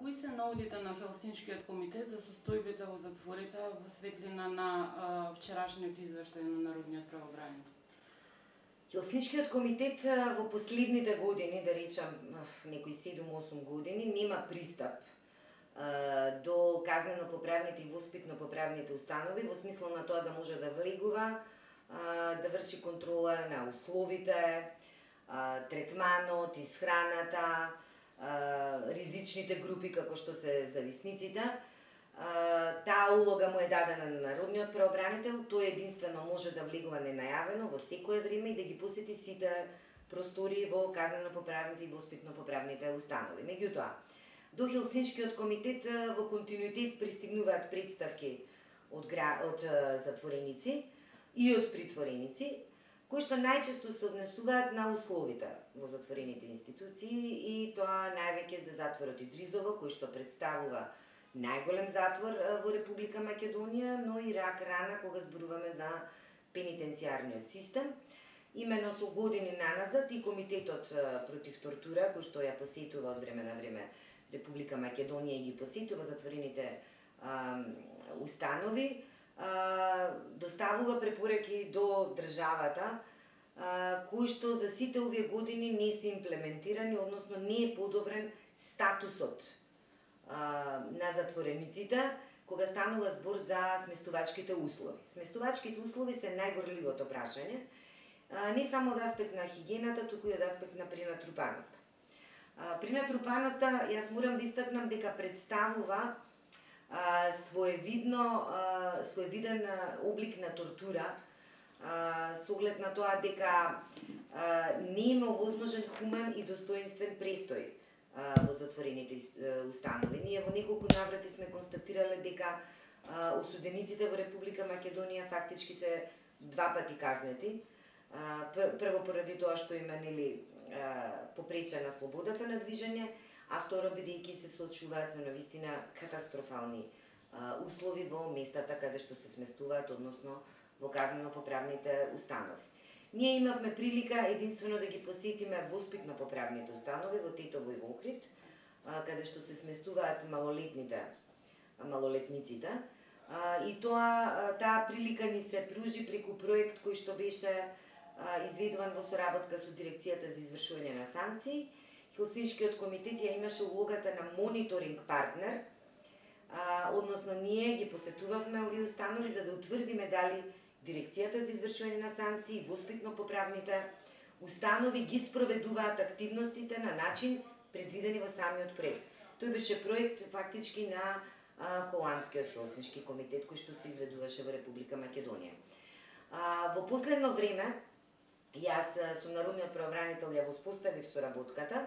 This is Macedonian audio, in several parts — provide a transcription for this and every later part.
Кои се наудите на Хелсиншкиот комитет за состојбите во затворите во светлина на вчерашниот извештај на Народниот правобранител? Хелсиншкиот комитет во последните години, да речам некои 7-8 години, нема пристап до казнено-поправните и воспитно-поправните установи во смисло на тоа да може да влегува, да врши контрола на условите, третманот, исхраната, ризичните групи како што се зависниците. Таа улога му е дадена на Народниот правобранител, тој единствено може да влегува ненајавено во секое време и да ги посети сите простори во казнено-поправните и воспитно-поправните установи. Меѓутоа, до Хелсиншкиот комитет во континуитет пристигнуваат представки од затвореници и од притвореници, кои што најчесто се однесуваат на условите во затворените институции и тоа највеќе за затворот Идризово, кој што представува најголем затвор во Република Македонија, но и рак рана кога зборуваме за пенитенцијарниот систем. Имено со години наназад и Комитетот против тортура, кој што ја посетува од време на време Република Македонија и ги посетува затворените установи, доставува препораки до државата, кои што за сите овие години не се имплементирани, односно не е подобрен статусот на затворениците, кога станува збор за сместувачките услови. Сместувачките услови се најгорливото прашање, не само од аспект на хигиената, туку и од аспект на пренатрупаноста. Пренатрупаноста, јас морам да истакнам дека представува своевиден облик на тортура, со оглед на тоа дека не има овозможен хумен и достоинствен престој во затворените установи. Ние во неколку наврати сме констатирале дека осудениците во Република Македонија фактички се два пати казнети. Прво поради тоа што има попречена слободата на движење, а второ бидејќи се соочуваат со навистина катастрофални услови во местата каде што се сместуваат, односно во казнено-поправните установи. Ние имавме прилика единствено да ги посетиме воспитно-поправните установи во Тетово и во Охрид, каде што се сместуваат малолетниците. И таа прилика ни се пружи преку проект кој што беше изведуван во соработка со Дирекцијата за извршување на санкции. Хелсиншкиот комитет ја имаше улогата на мониторинг партнер, односно ние ги посетувавме овие установи за да утврдиме дали Дирекцијата за извршување на санкции и воспитно-поправните установи ги спроведуваат активностите на начин предвидени во самиот проект. Тој беше проект фактички на холандскиот Хелсиншки комитет кој што се изведуваше во Република Македонија. Во последно време јас со Народниот правобранител ја воспоставив соработката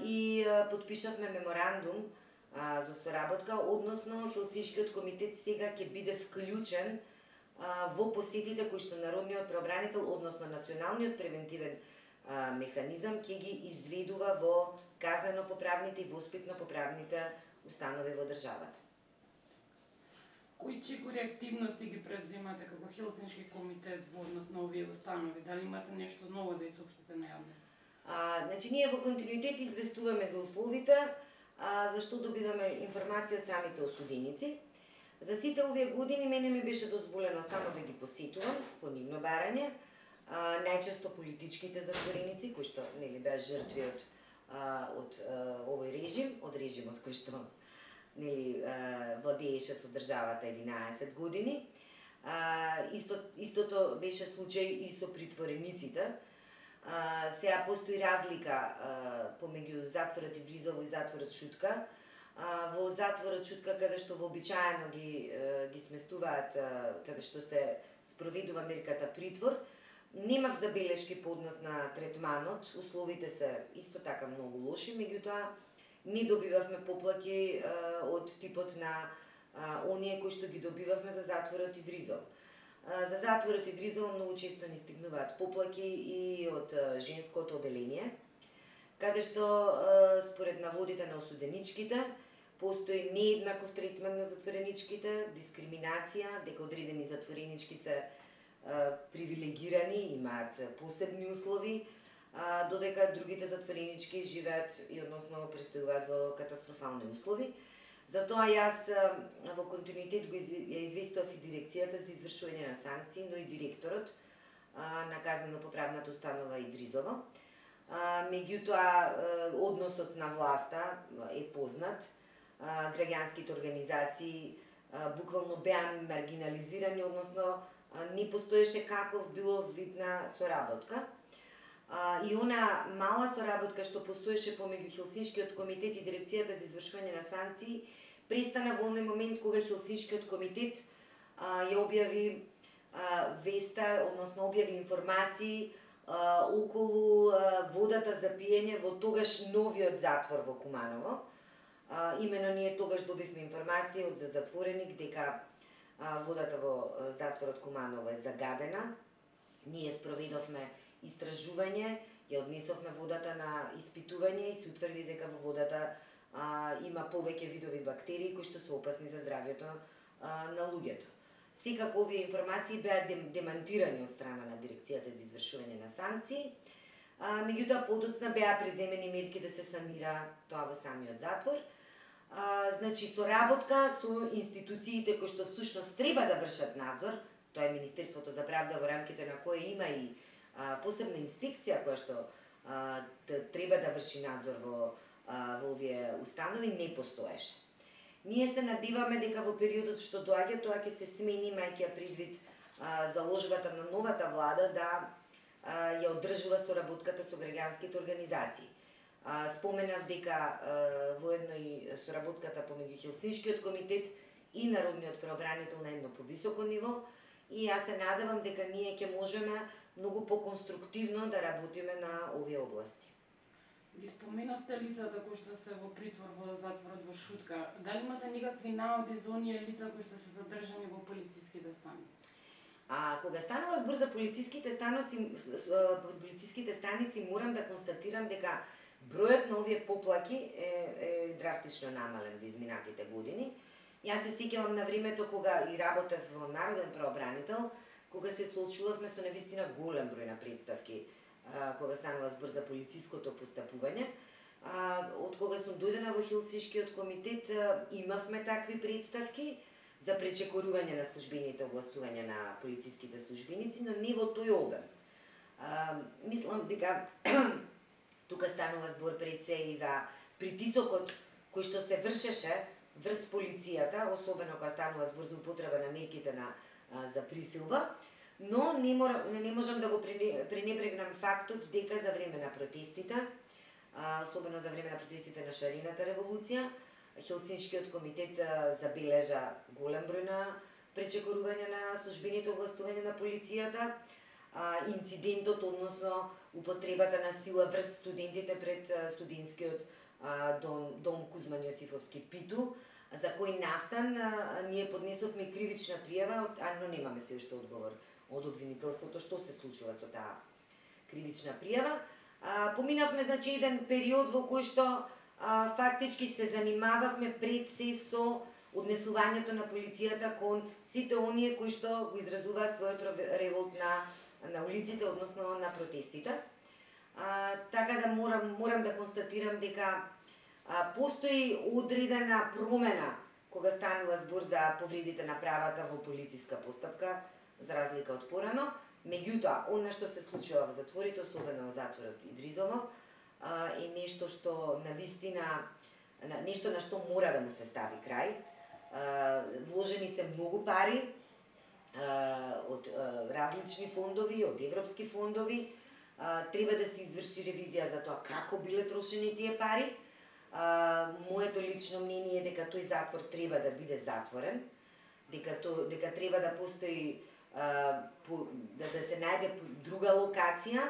и потпишавме меморандум за соработка, односно Хелсиншкиот комитет сега ќе биде вклучен во посетите кои што Народниот правобранител, односно Националниот превентивен механизам ќе ги изведува во казнено-поправните и воспитно-поправните установи во државата. Кои чекори активности ги превземате како Хелсиншки комитет во однос на овие установи? Дали имате нешто ново да соопштите на јавноста? Значи, ние во континуитет известуваме за условите, зашто добиваме информација од самите осуденици. За сите овие години мене ми беше дозволено само да ги посетувам по нивно барање, најчесто политичките затвореници кои што беа жртви од овој режим, од режимот кој што владееше со државата 11 години. Истото беше случај и со притворениците. Сега постои разлика помеѓу затворот Идризово и затворот Шутка. Во затворот Шутка, каде што вообичаено ги сместуваат, каде што се спроведува мерката притвор, немав забелешки по однос на третманот, условите се исто така многу лоши, меѓутоа не добивавме поплаки од типот на оние кои што ги добивавме за затворот Идризово. За затворот Идризово многу често ни стигнуваат поплаки и од женското оделение, каде што според наводите на осуденичките постои нееднаков третман на затвореничките, дискриминација, дека одредени затворенички се привилегирани, имаат посебни услови, додека другите затворенички живеат и односно престојуваат во катастрофални услови. Затоа јас во континуитет го известував и дирекцијата за извршување на санкции, но и директорот на казнено-поправната установа Идризово. Меѓутоа, односот на власта е познат. Граѓанските организации буквално беа маргинализирани, односно не постоеше каков било вид на соработка. И она мала соработка што постоеше помеѓу Хелсиншкиот комитет и дирекцијата за извршување на санкции престана во оној момент кога Хелсиншкиот комитет ја објави веста, односно објави информации околу водата за пиење во тогаш новиот затвор во Куманово. Имено ние тогаш добивме информација од затвореник дека водата во затворот Куманово е загадена. Ние спроведовме истражување, ја однесовме водата на испитување и се утврди дека во водата има повеќе видови бактерии кои што се опасни за здравјето на луѓето. Секако овие информации беа демантирани од страна на дирекцијата за извршување на санкции. Меѓутоа подоцна беа преземени мерки да се санира тоа во самиот затвор. Значи соработка со институциите кои што всушност треба да вршат надзор, тоа е Министерството за правда во рамките на кое има и посебна инспекција која што треба да врши надзор во овие установи, не постоеше. Ние се надеваме дека во периодот што доаѓа тоа ќе се смени, мајќи предвид заложбата на новата влада да ја одржува соработката со граѓанските организации. Споменав дека воедно и соработката помеѓу Хелсиншкиот комитет и Народниот правобранител на едно повисоко ниво, и јас се надевам дека ние ќе можеме многу поконструктивно да работиме на овие области. Ги споменавте лицата кои што се во притвор во затворот во Шутка. Дали имате никакви наоди за оние лица кои што се задржани во полициските станици? Кога станува збор за полициските станици, морам да констатирам дека бројот на овие поплаки е драстично намален во изминатите години. Јас се сеќавам на времето кога и работев во Народен правобранител, кога се соочувавме со навистина голем број на представки кога станува збор за полициското постапување. Од кога сум дојдена во Хелсиншкиот комитет, имавме такви представки за пречекорување на службените овластувања на полициските службеници, но не во тој обем. Мислам дека тука станува збор пред се и за притисокот кој што се вршеше врз полицијата, особено кога станува збор за употреба на мерките за присилба. Но не можам да го пренебрегнам фактот дека за време на протестите, особено за време на протестите на Шарената револуција, Хелсиншкиот комитет забележа голем број на пречекорување на службените овластувања на полицијата, инцидентот, односно употребата на сила врз студентите пред студентскиот дом Кузман Јосифовски Питу, за кој настан ние поднесовме кривична пријава, но немаме се уште одговор од обвинителството што се случува со таа кривична пријава. Поминавме значи еден период во кој што фактички се занимававме пред се со однесувањето на полицијата кон сите оние кои што го изразуваат својот револт на улиците, односно на протестите. Така да морам да констатирам дека постои одредена промена кога станува збор за повредите на правата во полициска постапка, за разлика од порано. Меѓутоа, она што се случува во затворите, особено во затворот Идризово, е нешто што навистина, нешто на што мора да му се стави крај. Вложени се многу пари од различни фондови, од европски фондови. Треба да се изврши ревизија за тоа како биле трошени тие пари. Моето лично мнение е дека тој затвор треба да биде затворен, дека треба да постои да се најде друга локација,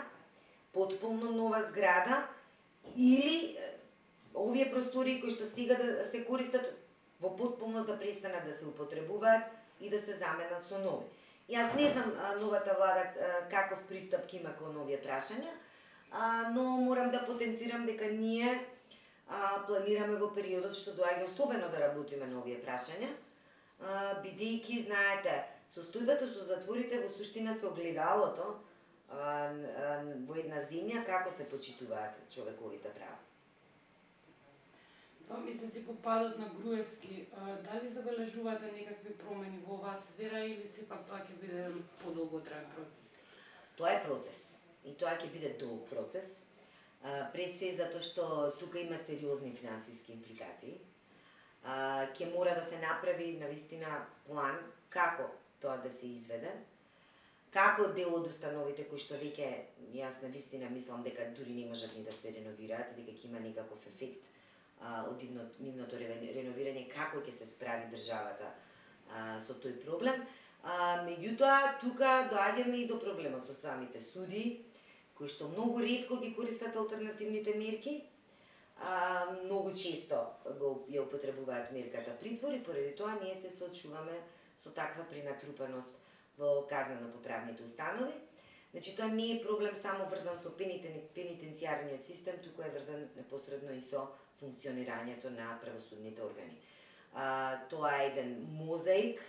потполно нова зграда, или овие простори кои што сега да се користат во потполност да престанат да се употребуваат и да се заменат со нови. Јас не знам новата влада каков пристап има кон овие прашања, но морам да потенцирам дека ние планираме во периодот што доаѓа особено да работиме на овие прашања, бидејќи, знаете, состојбата со затворите во суштина се огледалото во една земја како се почитуваат човековите права. 2 месеци по падот на Груевски, дали забележувате некакви промени во оваа сфера или сепак тоа ќе биде подолготраен процес? Тоа е процес и тоа ќе биде долг процес. Пред се затоа што тука има сериозни финансиски импликации. Ќе мора да се направи навистина план како тоа да се изведе. Како дел од установите кои што веќе јас навистина мислам дека дури не можат ни да се реновираат, дека ќе има некаков ефект од нивното реновирање, како ќе се справи државата со тој проблем. Меѓутоа, тука доаѓаме и до проблемот со самите суди, кои што многу ретко ги користат алтернативните мерки, многу често ја употребуваат мерката притвор и поради тоа ние се соочуваме со таква пренатрупаност во казнено-поправните установи. Значи, тоа не е проблем само врзан со пенитенцијарниот систем, туку е врзан непосредно и со функционирањето на правосудните органи. Тоа е еден мозаик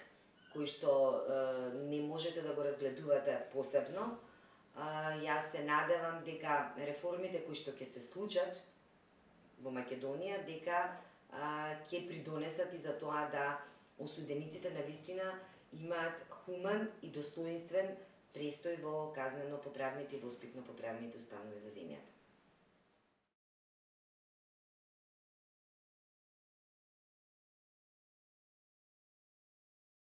кој што не можете да го разгледувате посебно. Јас се надевам дека реформите кои што ќе се случат во Македонија, дека ќе придонесат и за тоа да осудениците навистина имаат хуман и достоинствен престој во казнено-поправните и воспитно-поправните установи во земјата.